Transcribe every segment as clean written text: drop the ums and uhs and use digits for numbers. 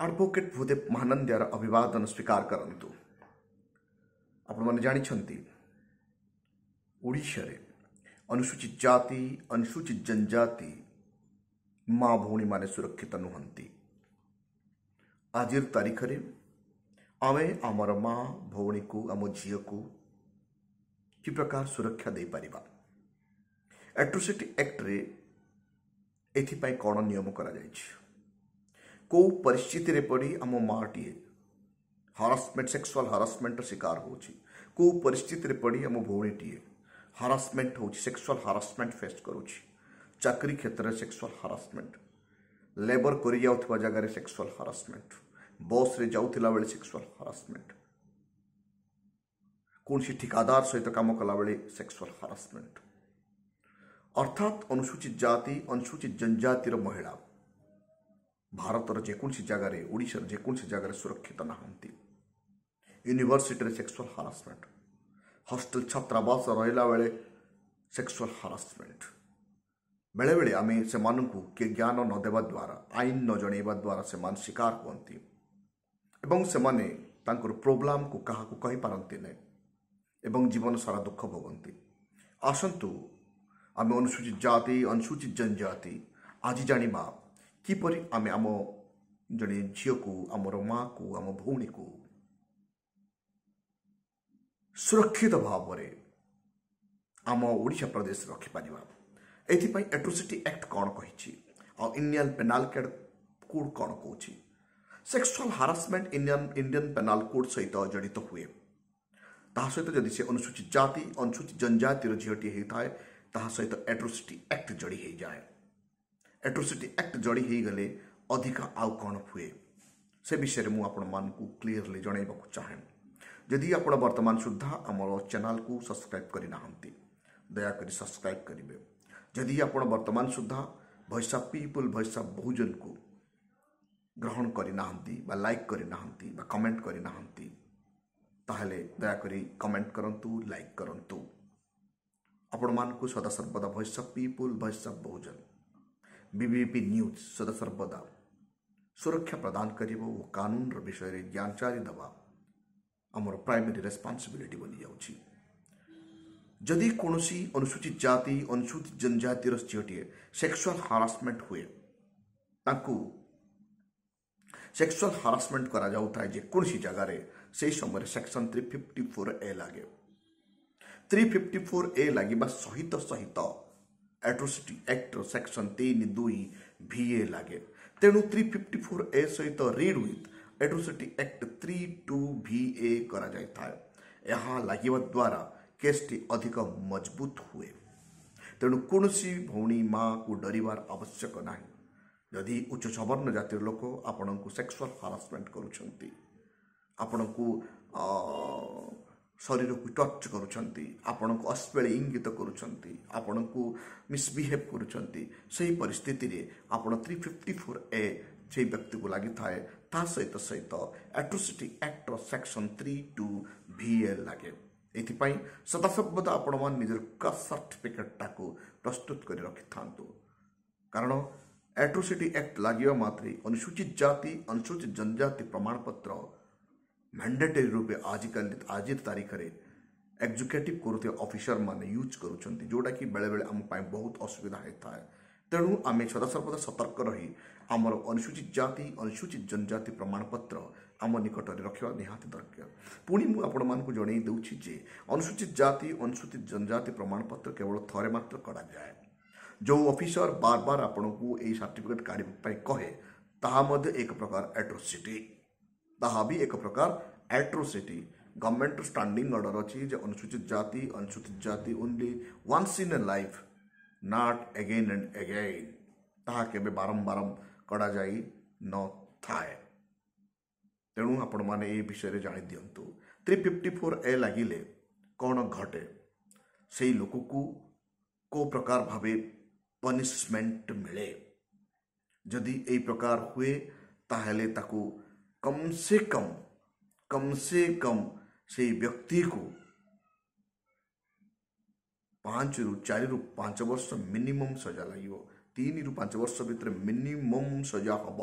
Advocate Bhudev ମହାନନ୍ଦିଆର ଅଭିବାଦନ ସ୍ୱୀକାର କରନ୍ତୁ। ଆପଣମାନେ ଜାଣିଛନ୍ତି, ଓଡ଼ିଶାରେ ଅନୁସୂଚିତ ଜାତି, ଅନୁସୂଚିତ ଜନଜାତି ମା ଭଉଣୀମାନେ ସୁରକ୍ଷିତ ନୁହନ୍ତି। ଆଜିର ତାରିଖରେ ଆମେ ଆମର ମା ଭଉଣୀକୁ, ଆମ ଝିଅକୁ କି ପ୍ରକାର ସୁରକ୍ଷା ଦେଇପାରିବା? ଆଟ୍ରୋସିଟି ଆକ୍ଟରେ ଏଥିପାଇଁ କ'ଣ ନିୟମ କରାଯାଇଛି? କେଉଁ ପରିସ୍ଥିତିରେ ପଡ଼ି ଆମ ମାଆଟିଏ ହାରାସମେଣ୍ଟ, ସେକ୍ସୁଆଲ ହାରାସମେଣ୍ଟର ଶିକାର ହେଉଛି, କେଉଁ ପରିସ୍ଥିତିରେ ପଡ଼ି ଆମ ଭଉଣୀଟିଏ ହାରାସମେଣ୍ଟ ହେଉଛି, ସେକ୍ସୁଆଲ ହାରାସମେଣ୍ଟ ଫେସ୍ କରୁଛି, ଚାକିରି କ୍ଷେତ୍ରରେ ସେକ୍ସୁଆଲ ହାରାସମେଣ୍ଟ, ଲେବର କରିଯାଉଥିବା ଜାଗାରେ ସେକ୍ସୁଆଲ ହାରାସମେଣ୍ଟ, ବସ୍ରେ ଯାଉଥିଲା ବେଳେ ସେକ୍ସୁଆଲ ହାରାସମେଣ୍ଟ, କୌଣସି ଠିକାଦାର ସହିତ କାମ କଲାବେଳେ ସେକ୍ସୁଆଲ ହାରାସମେଣ୍ଟ, ଅର୍ଥାତ୍ ଅନୁସୂଚିତ ଜାତି, ଅନୁସୂଚିତ ଜନଜାତିର ମହିଳା ଭାରତର ଯେକୌଣସି ଜାଗାରେ, ଓଡ଼ିଶାର ଯେକୌଣସି ଜାଗାରେ ସୁରକ୍ଷିତ ନାହାନ୍ତି। ୟୁନିଭର୍ସିଟିରେ ସେକ୍ସୁଆଲ ହାରାସମେଣ୍ଟ, ହଷ୍ଟେଲ ଛାତ୍ରାବାସ ରହିଲା ବେଳେ ସେକ୍ସୁଆଲ ହାରାସମେଣ୍ଟ। ବେଳେବେଳେ ଆମେ ସେମାନଙ୍କୁ କିଏ ଜ୍ଞାନ ନ ଦେବା ଦ୍ୱାରା, ଆଇନ ନ ଜଣାଇବା ଦ୍ୱାରା ସେମାନେ ଶିକାର ହୁଅନ୍ତି ଏବଂ ସେମାନେ ତାଙ୍କର ପ୍ରୋବ୍ଲେମକୁ କାହାକୁ କହିପାରନ୍ତି ନାହିଁ ଏବଂ ଜୀବନ ସାରା ଦୁଃଖ ଭୋଗନ୍ତି। ଆସନ୍ତୁ ଆମେ ଅନୁସୂଚିତ ଜାତି, ଅନୁସୂଚିତ ଜନଜାତି ଆଜି ଜାଣିବା କିପରି ଆମେ ଆମ ଜଣେ ଝିଅକୁ, ଆମର ମାଆକୁ, ଆମ ଭଉଣୀକୁ ସୁରକ୍ଷିତ ଭାବରେ ଆମ ଓଡ଼ିଶା ପ୍ରଦେଶରେ ରଖିପାରିବା। ଏଥିପାଇଁ ଆଟ୍ରୋସିଟି ଆକ୍ଟ କ'ଣ କହିଛି ଆଉ ଇଣ୍ଡିଆନ୍ ପେନାଲ କୋଡ୍ କ'ଣ କହୁଛି? Sexual harassment Indian penal code ସହିତ ଜଡ଼ିତ ହୁଏ। ତାହା ସହିତ ଯଦି ସେ ଅନୁସୂଚିତ ଜାତି, ଅନୁସୂଚିତ ଜନଜାତିର ଝିଅଟିଏ ହେଇଥାଏ, ତାହା ସହିତ ଆଟ୍ରୋସିଟି ଆକ୍ଟ ଯୋଡ଼ି ହେଇଯାଏ। ଆଟ୍ରୋସିଟି ଆକ୍ଟ ଯୋଡ଼ି ହେଇଗଲେ ଅଧିକା ଆଉ କ'ଣ ହୁଏ, ସେ ବିଷୟରେ ମୁଁ ଆପଣମାନଙ୍କୁ କ୍ଲିଅରଲି ଜଣାଇବାକୁ ଚାହେଁ। ଯଦି ଆପଣ ବର୍ତ୍ତମାନ ସୁଦ୍ଧା ଆମର ଚ୍ୟାନେଲକୁ ସବସ୍କ୍ରାଇବ୍ କରିନାହାନ୍ତି, ଦୟାକରି ସବସ୍କ୍ରାଇବ୍ କରିବେ। ଯଦି ଆପଣ ବର୍ତ୍ତମାନ ସୁଦ୍ଧା voice of people, voice of ବହୁଜନକୁ ଗ୍ରହଣ କରିନାହାନ୍ତି ବା ଲାଇକ୍ କରିନାହାନ୍ତି ବା କମେଣ୍ଟ କରିନାହାନ୍ତି, ତାହେଲେ ଦୟାକରି କମେଣ୍ଟ କରନ୍ତୁ, ଲାଇକ୍ କରନ୍ତୁ। ଆପଣମାନଙ୍କୁ ସଦାସର୍ବଦା voice of people, voice of Bahujan, BBP news ସଦାସର୍ବଦା ସୁରକ୍ଷା ପ୍ରଦାନ କରିବ ଓ କାନୁନର ବିଷୟରେ ଜ୍ଞାନଚାରି ଦେବା ଆମର ପ୍ରାଇମେରୀ ରେସ୍ପନ୍ସିବିଲିଟି ବନିଯାଉଛି। ଯଦି କୌଣସି ଅନୁସୂଚିତ ଜାତି, ଅନୁସୂଚିତ ଜନଜାତିର ଝିଅଟିଏ ସେକ୍ସୁଆଲ ହାରାସମେଣ୍ଟ ହୁଏ, ତାଙ୍କୁ ସେକ୍ସୁଆଲ ହାରାସମେଣ୍ଟ କରାଯାଉଥାଏ ଯେକୌଣସି ଜାଗାରେ, ସେହି ସମୟରେ ସେକ୍ସନ୍ 354A ଲାଗେ। 354A ଲାଗିବା ସହିତ ସହିତ ଆଟ୍ରୋସିଟି ଆକ୍ଟର ସେକ୍ସନ୍ 3(2)(VA ଲାଗେ। ତେଣୁ 354A ସହିତ read with atrocity act 3(2)(VA କରାଯାଇଥାଏ। ଏହା ଲାଗିବା ଦ୍ୱାରା କେସ୍ଟି ଅଧିକ ମଜବୁତ ହୁଏ। ତେଣୁ କୌଣସି ଭଉଣୀ ମାଆକୁ ଡରିବାର ଆବଶ୍ୟକ ନାହିଁ। ଯଦି ଉଚ୍ଚ ସବର୍ଣ୍ଣ ଜାତିର ଲୋକ ଆପଣଙ୍କୁ ସେକ୍ସୁଆଲ ହାରାସମେଣ୍ଟ କରୁଛନ୍ତି, ଆପଣଙ୍କୁ ଶରୀରକୁ ଟଚ୍ କରୁଛନ୍ତି, ଆପଣଙ୍କୁ ଅଶ୍ଳୀଳ ଇଙ୍ଗିତ କରୁଛନ୍ତି, ଆପଣଙ୍କୁ ମିସବିହେଭ୍ କରୁଛନ୍ତି, ସେହି ପରିସ୍ଥିତିରେ ଆପଣ 354A ସେଇ ବ୍ୟକ୍ତିକୁ ଲାଗିଥାଏ। ତା ସହିତ ସହିତ ଆଟ୍ରୋସିଟି ଆକ୍ଟର ସେକ୍ସନ୍ 3(2)(VA ଲାଗେ। ଏଥିପାଇଁ ସଦାସର୍ବଦା ଆପଣମାନେ ନିଜର କାଷ୍ଟ ସାର୍ଟିଫିକେଟଟାକୁ ପ୍ରସ୍ତୁତ କରି ରଖିଥାନ୍ତୁ, କାରଣ ଆଟ୍ରୋସିଟି ଆକ୍ଟ ଲାଗିବା ମାତ୍ରେ ଅନୁସୂଚିତ ଜାତି, ଅନୁସୂଚିତ ଜନଜାତି ପ୍ରମାଣପତ୍ର ମ୍ୟାଣ୍ଡେଟରୀ ରୂପେ ଆଜିକାଲି ଆଜିର ତାରିଖରେ ଏକ୍ଜିକ୍ୟୁଟିଭ୍ କରୁଥିବା ଅଫିସରମାନେ ୟୁଜ୍ କରୁଛନ୍ତି, ଯେଉଁଟାକି ବେଳେବେଳେ ଆମ ପାଇଁ ବହୁତ ଅସୁବିଧା ହେଇଥାଏ। ତେଣୁ ଆମେ ସଦାସର୍ବଦା ସତର୍କ ରହି ଆମର ଅନୁସୂଚିତ ଜାତି, ଅନୁସୂଚିତ ଜନଜାତି ପ୍ରମାଣପତ୍ର ଆମ ନିକଟରେ ରଖିବା ନିହାତି ଦରକାର। ପୁଣି ମୁଁ ଆପଣମାନଙ୍କୁ ଜଣାଇ ଦେଉଛି ଯେ ଅନୁସୂଚିତ ଜାତି, ଅନୁସୂଚିତ ଜନଜାତି ପ୍ରମାଣପତ୍ର କେବଳ ଥରେ ମାତ୍ର କରାଯାଏ। ଯେଉଁ ଅଫିସର ବାର ବାର ଆପଣଙ୍କୁ ଏଇ ସାର୍ଟିଫିକେଟ୍ କାଢ଼ିବା ପାଇଁ କହେ, ତାହା ମଧ୍ୟ ଏକ ପ୍ରକାର ଆଟ୍ରୋସିଟି, ତାହା ବି ଏକ ପ୍ରକାର ଆଟ୍ରୋସିଟି। ଗଭର୍ଣ୍ଣମେଣ୍ଟର ଷ୍ଟାଣ୍ଡିଂ ଅର୍ଡ଼ର ଅଛି ଯେ ଅନୁସୂଚିତ ଜାତି, ଅନୁସୂଚିତ ଜାତି only once in a life, not again and again. ତାହା କେବେ ବାରମ୍ବାର କରାଯାଇ ନଥାଏ। ତେଣୁ ଆପଣମାନେ ଏ ବିଷୟରେ ଜାଣିଦିଅନ୍ତୁ। 354A ଲାଗିଲେ କ'ଣ ଘଟେ, ସେଇ ଲୋକକୁ କେଉଁ ପ୍ରକାର ଭାବେ ପନିସମେଣ୍ଟ ମିଳେ? ଯଦି ଏଇ ପ୍ରକାର ହୁଏ, ତାହେଲେ ତାକୁ କମ୍ ସେ କମ୍, କମ୍ ସେ କମ୍ ସେଇ ବ୍ୟକ୍ତିକୁ 5ରୁ 4ରୁ 5 ବର୍ଷ ମିନିମମ୍ ସଜା ଲାଗିବ। 3ରୁ 5 ବର୍ଷ ଭିତରେ ମିନିମମ୍ ସଜା ହେବ।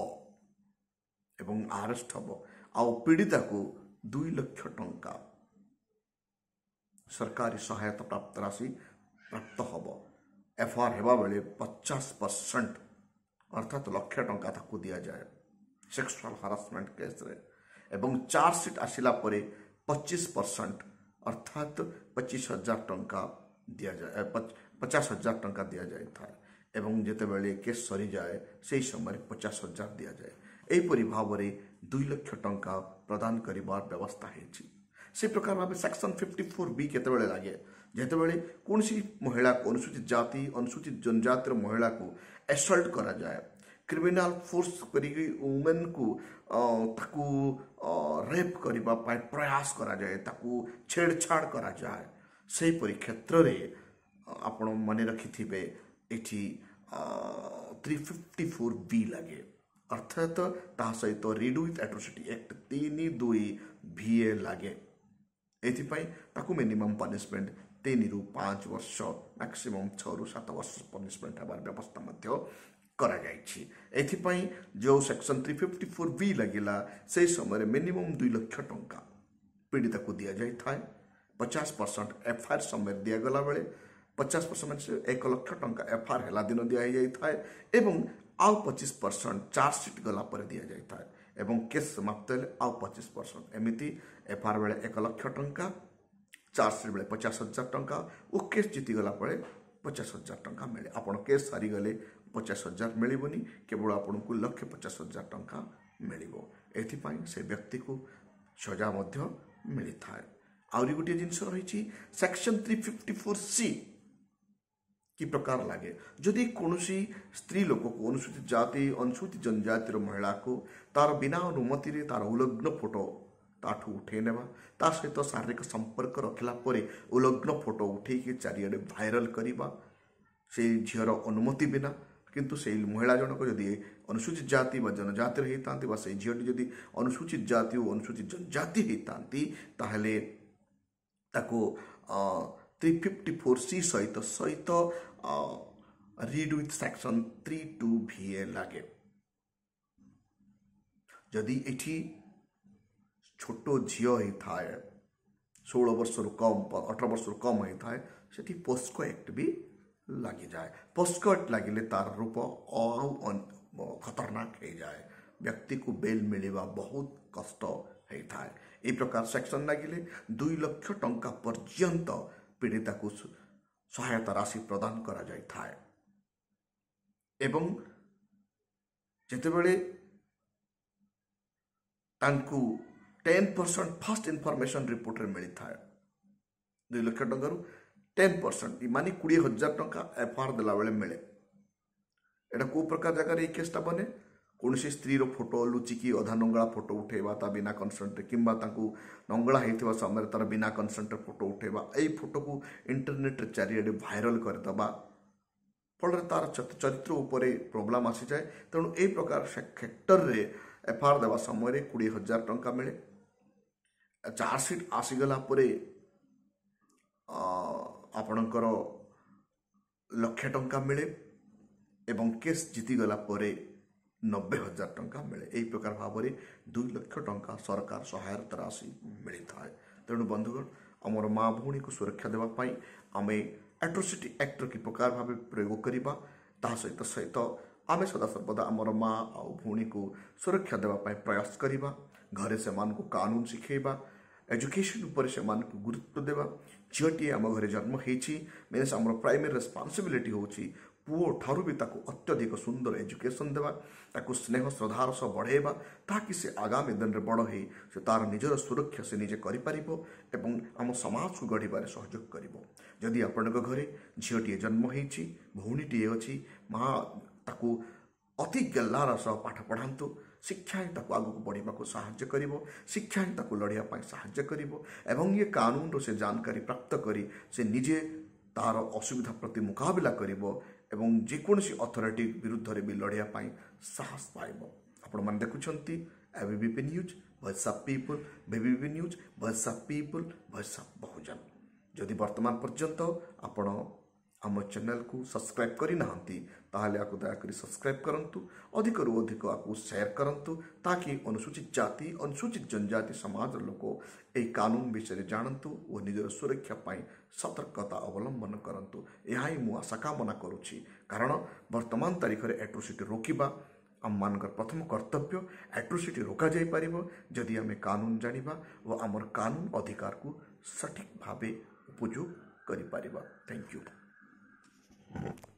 ଏବଂ ଆରେଷ୍ଟ ହେବ, ଆଉ ପୀଡ଼ିତାକୁ 2 ଲକ୍ଷ ଟଙ୍କା ସରକାରୀ ସହାୟତା ପ୍ରାପ୍ତ ରାଶି ପ୍ରାପ୍ତ ହେବ। ଏଫଆଇଆର୍ ହେବା ବେଳେ 50% ଅର୍ଥାତ୍ ଲକ୍ଷେ ଟଙ୍କା ତାକୁ ଦିଆଯାଏ ସେକ୍ସୁଆଲ ହାରାସମେଣ୍ଟ କେସ୍ରେ, ଏବଂ ଚାର୍ଜସିଟ୍ ଆସିଲା ପରେ 25% ଅର୍ଥାତ୍ 25,000 ଟଙ୍କା ଦିଆଯାଏ, 50,000 ଟଙ୍କା ଦିଆଯାଇଥାଏ, ଏବଂ ଯେତେବେଳେ କେସ୍ ସରିଯାଏ ସେହି ସମୟରେ 50,000 ଦିଆଯାଏ। ଏହିପରି ଭାବରେ 2 ଲକ୍ଷ ଟଙ୍କା ପ୍ରଦାନ କରିବାର ବ୍ୟବସ୍ଥା ହେଇଛି। ସେ ପ୍ରକାର ଭାବେ ସେକ୍ସନ୍ 54 ବି କେତେବେଳେ ଲାଗେ? ଯେତେବେଳେ କୌଣସି ମହିଳାକୁ, ଅନୁସୂଚିତ ଜାତି ଅନୁସୂଚିତ ଜନଜାତିର ମହିଳାକୁ ଆସଲ୍ଟ କରାଯାଏ, କ୍ରିମିନାଲ ଫୋର୍ସ କରିକି ଓମେନ୍କୁ ତାକୁ ରେପ୍ କରିବା ପାଇଁ ପ୍ରୟାସ କରାଯାଏ, ତାକୁ ଛେଡ଼ଛାଡ଼ କରାଯାଏ, ସେହିପରି କ୍ଷେତ୍ରରେ ଆପଣ ମନେ ରଖିଥିବେ ଏଠି 354 ବି ଲାଗେ, ଅର୍ଥାତ୍ ତାହା ସହିତ ରିଡ୍ ୱିଥ୍ ଆଟ୍ରୋସିଟି ଆକ୍ଟ 3(2) ଭି ଏ ଲାଗେ। ଏଥିପାଇଁ ତାକୁ ମିନିମମ୍ ପନିସମେଣ୍ଟ 3ରୁ 5 ବର୍ଷ, ମ୍ୟାକ୍ସିମମ୍ 6ରୁ 7 ବର୍ଷ ପନିସମେଣ୍ଟ ହେବାର ବ୍ୟବସ୍ଥା ମଧ୍ୟ କରାଯାଇଛି। ଏଥିପାଇଁ ଯେଉଁ ସେକ୍ସନ୍ 354 ବି ଲାଗିଲା, ସେହି ସମୟରେ ମିନିମମ୍ 2 ଲକ୍ଷ ଟଙ୍କା ପୀଡ଼ିତାକୁ ଦିଆଯାଇଥାଏ। 50% ଏଫଆଇଆର୍ ସମୟରେ ଦିଆଗଲା ବେଳେ 50% ମାନେ 1 ଲକ୍ଷ ଟଙ୍କା ଏଫଆଇଆର୍ ହେଲା ଦିନ ଦିଆହେଇଯାଇଥାଏ, ଏବଂ ଆଉ 25% ଚାର୍ଜସିଟ୍ ଗଲା ପରେ ଦିଆଯାଇଥାଏ, ଏବଂ କେସ୍ ସମାପ୍ତ ହେଲେ ଆଉ 25%। ଏମିତି ଏଫଆଇଆର୍ ବେଳେ 1 ଲକ୍ଷ ଟଙ୍କା, ଚାର୍ଜସିଟ୍ ବେଳେ 50,000 ଟଙ୍କା ଓ କେସ୍ ଜିତିଗଲା ପରେ 50,000 ଟଙ୍କା ମିଳେ। ଆପଣ କେସ୍ ହାରିଗଲେ 50,000 ମିଳିବନି, କେବଳ ଆପଣଙ୍କୁ 1,50,000 ଟଙ୍କା ମିଳିବ। ଏଥିପାଇଁ ସେ ବ୍ୟକ୍ତିକୁ ସଜା ମଧ୍ୟ ମିଳିଥାଏ। ଆହୁରି ଗୋଟିଏ ଜିନିଷ ରହିଛି, ସେକ୍ସନ୍ 354 ସି କି ପ୍ରକାର ଲାଗେ? ଯଦି କୌଣସି ସ୍ତ୍ରୀ ଲୋକକୁ, ଅନୁସୂଚିତ ଜାତି ଅନୁସୂଚିତ ଜନଜାତିର ମହିଳାକୁ ତାର ବିନା ଅନୁମତିରେ ତାର ଉଲଗ୍ନ ଫଟୋ ତାଠୁ ଉଠେଇ ନେବା, ତା ସହିତ ଶାରୀରିକ ସମ୍ପର୍କ ରଖିଲା ପରେ ଉଲଗ୍ନ ଫଟୋ ଉଠେଇକି ଚାରିଆଡ଼େ ଭାଇରାଲ କରିବା ସେଇ ଝିଅର ଅନୁମତି ବିନା, କିନ୍ତୁ ସେଇ ମହିଳା ଜଣକ ଯଦି ଅନୁସୂଚିତ ଜାତି ବା ଜନଜାତିର ହେଇଥାନ୍ତି ବା ସେଇ ଝିଅଟି ଯଦି ଅନୁସୂଚିତ ଜାତି ଓ ଅନୁସୂଚିତ ଜନଜାତି ହେଇଥାନ୍ତି, ତାହେଲେ ତାକୁ 354 ସି ସହିତ ରିଡ୍ ୱିଥ୍ ସେକ୍ସନ୍ 3(2) ଭି ଏ ଲାଗେ। ଯଦି ଏଠି ଛୋଟ ଝିଅ ହେଇଥାଏ, 16 ବର୍ଷରୁ କମ୍, 18 ବର୍ଷରୁ କମ୍ ହେଇଥାଏ, ସେଠି ପୋସ୍କୋ ଆକ୍ଟ ବି ଲାଗିଯାଏ। ପୋସ୍କୋ ଆକ୍ଟ ଲାଗିଲେ ତାର ରୂପ ଆଉ ଖତରନାକ ହେଇଯାଏ, ବ୍ୟକ୍ତିକୁ ବେଲ୍ ମିଳିବା ବହୁତ କଷ୍ଟ ହେଇଥାଏ। ଏହି ପ୍ରକାର ସେକ୍ସନ୍ ଲାଗିଲେ 2 ଲକ୍ଷ ଟଙ୍କା ପର୍ଯ୍ୟନ୍ତ ପୀଡ଼ିତାକୁ ସହାୟତା ରାଶି ପ୍ରଦାନ କରାଯାଇଥାଏ, ଏବଂ ଯେତେବେଳେ ତାଙ୍କୁ 10% ଫାଷ୍ଟ ଇନଫର୍ମେସନ୍ ରିପୋର୍ଟରେ ମିଳିଥାଏ, 2 ଲକ୍ଷ ଟଙ୍କାରୁ 10% ମାନେ 20,000 ଟଙ୍କା ଏଫଆଇଆର୍ ଦେଲାବେଳେ ମିଳେ। ଏଇଟା କେଉଁ ପ୍ରକାର ଜାଗାରେ ଏଇ କେସ୍ଟା ବନେ? କୌଣସି ସ୍ତ୍ରୀର ଫଟୋ ଲୁଚିକି ଅଧା ନଙ୍ଗଳା ଫଟୋ ଉଠେଇବା ତା ବିନା କନସେଣ୍ଟରେ, କିମ୍ବା ତାଙ୍କୁ ନଙ୍ଗଳା ହେଇଥିବା ସମୟରେ ତାର ବିନା କନସେଣ୍ଟରେ ଫଟୋ ଉଠେଇବା, ଏଇ ଫଟୋକୁ ଇଣ୍ଟରନେଟ୍ରେ ଚାରିଆଡ଼େ ଭାଇରାଲ କରିଦେବା, ଫଳରେ ତାର ଚରିତ୍ର ଉପରେ ପ୍ରୋବ୍ଲେମ୍ ଆସିଯାଏ। ତେଣୁ ଏଇ ପ୍ରକାର କ୍ଷେତ୍ରରେ ଏଫଆଇଆର୍ ଦେବା ସମୟରେ 20,000 ଟଙ୍କା ମିଳେ। ଚାର୍ଜସିଟ୍ ଆସିଗଲା ପରେ ଆପଣଙ୍କର ଲକ୍ଷେ ଟଙ୍କା ମିଳେ, ଏବଂ କେସ୍ ଜିତିଗଲା ପରେ 90,000 ଟଙ୍କା ମିଳେ। ଏହି ପ୍ରକାର ଭାବରେ 2 ଲକ୍ଷ ଟଙ୍କା ସରକାର ସହାୟତା ରାଶି ମିଳିଥାଏ। ତେଣୁ ବନ୍ଧୁଗଣ, ଆମର ମା ଭଉଣୀକୁ ସୁରକ୍ଷା ଦେବା ପାଇଁ ଆମେ ଆଟ୍ରୋସିଟି ଆକ୍ଟର କି ପ୍ରକାର ଭାବେ ପ୍ରୟୋଗ କରିବା, ତାହା ସହିତ ଆମେ ସଦାସର୍ବଦା ଆମର ମା ଆଉ ଭଉଣୀକୁ ସୁରକ୍ଷା ଦେବା ପାଇଁ ପ୍ରୟାସ କରିବା। ଘରେ ସେମାନଙ୍କୁ କାନୁନ ଶିଖେଇବା, ଏଜୁକେସନ୍ ଉପରେ ସେମାନଙ୍କୁ ଗୁରୁତ୍ୱ ଦେବା। ଝିଅଟିଏ ଆମ ଘରେ ଜନ୍ମ ହେଇଛି ମିନ୍ସ ଆମର ପ୍ରାଇମେରୀ ରେସ୍ପନ୍ସିବିଲିଟି ହେଉଛି ପୁଅ ଠାରୁ ବି ତାକୁ ଅତ୍ୟଧିକ ସୁନ୍ଦର ଏଜୁକେସନ୍ ଦେବା, ତାକୁ ସ୍ନେହ ଶ୍ରଦ୍ଧାର ସହ ବଢ଼େଇବା, ତାକି ସେ ଆଗାମୀ ଦିନରେ ବଡ଼ ହେଇ ସେ ତାର ନିଜର ସୁରକ୍ଷା ସେ ନିଜେ କରିପାରିବ ଏବଂ ଆମ ସମାଜକୁ ଗଢ଼ିବାରେ ସହଯୋଗ କରିବ। ଯଦି ଆପଣଙ୍କ ଘରେ ଝିଅଟିଏ ଜନ୍ମ ହେଇଛି, ଭଉଣୀଟିଏ ଅଛି, ମା ତାକୁ ଅତି ଗେହ୍ଲାର ସହ ପାଠ ପଢ଼ାନ୍ତୁ। ଶିକ୍ଷା ହିଁ ତାକୁ ଆଗକୁ ବଢ଼ିବାକୁ ସାହାଯ୍ୟ କରିବ, ଶିକ୍ଷା ହିଁ ତାକୁ ଲଢ଼ିବା ପାଇଁ ସାହାଯ୍ୟ କରିବ, ଏବଂ ଇଏ କାନୁନର ସେ ଜାନକାରୀ ପ୍ରାପ୍ତ କରି ସେ ନିଜେ ତାର ଅସୁବିଧା ପ୍ରତି ମୁକାବିଲା କରିବ ଏବଂ ଯେକୌଣସି ଅଥରିଟି ବିରୁଦ୍ଧରେ ବି ଲଢ଼ିବା ପାଇଁ ସାହସ ପାଇବ। ଆପଣମାନେ ଦେଖୁଛନ୍ତି ABVP news, voice of people. ABVP news, voice of people, voice of Bahujan. ଯଦି ବର୍ତ୍ତମାନ ପର୍ଯ୍ୟନ୍ତ ଆପଣ ଆମ ଚ୍ୟାନେଲକୁ ସବସ୍କ୍ରାଇବ୍ କରିନାହାନ୍ତି, ତାହେଲେ ଆକୁ ଦୟାକରି ସବସ୍କ୍ରାଇବ୍ କରନ୍ତୁ, ଅଧିକରୁ ଅଧିକ ଆକୁ ସେୟାର କରନ୍ତୁ, ତାକି ଅନୁସୂଚିତ ଜାତି, ଅନୁସୂଚିତ ଜନଜାତି ସମାଜର ଲୋକ ଏହି କାନୁନ ବିଷୟରେ ଜାଣନ୍ତୁ ଓ ନିଜର ସୁରକ୍ଷା ପାଇଁ ସତର୍କତା ଅବଲମ୍ବନ କରନ୍ତୁ। ଏହା ହିଁ ମୁଁ ଆଶା କାମନା କରୁଛି, କାରଣ ବର୍ତ୍ତମାନ ତାରିଖରେ ଆଟ୍ରୋସିଟି ରୋକିବା ଆମମାନଙ୍କର ପ୍ରଥମ କର୍ତ୍ତବ୍ୟ। ଆଟ୍ରୋସିଟି ରୋକାଯାଇପାରିବ ଯଦି ଆମେ କାନୁନ ଜାଣିବା ଓ ଆମର କାନୁନ ଅଧିକାରକୁ ସଠିକ୍ ଭାବେ ଉପଯୋଗ କରିପାରିବା। Thank you.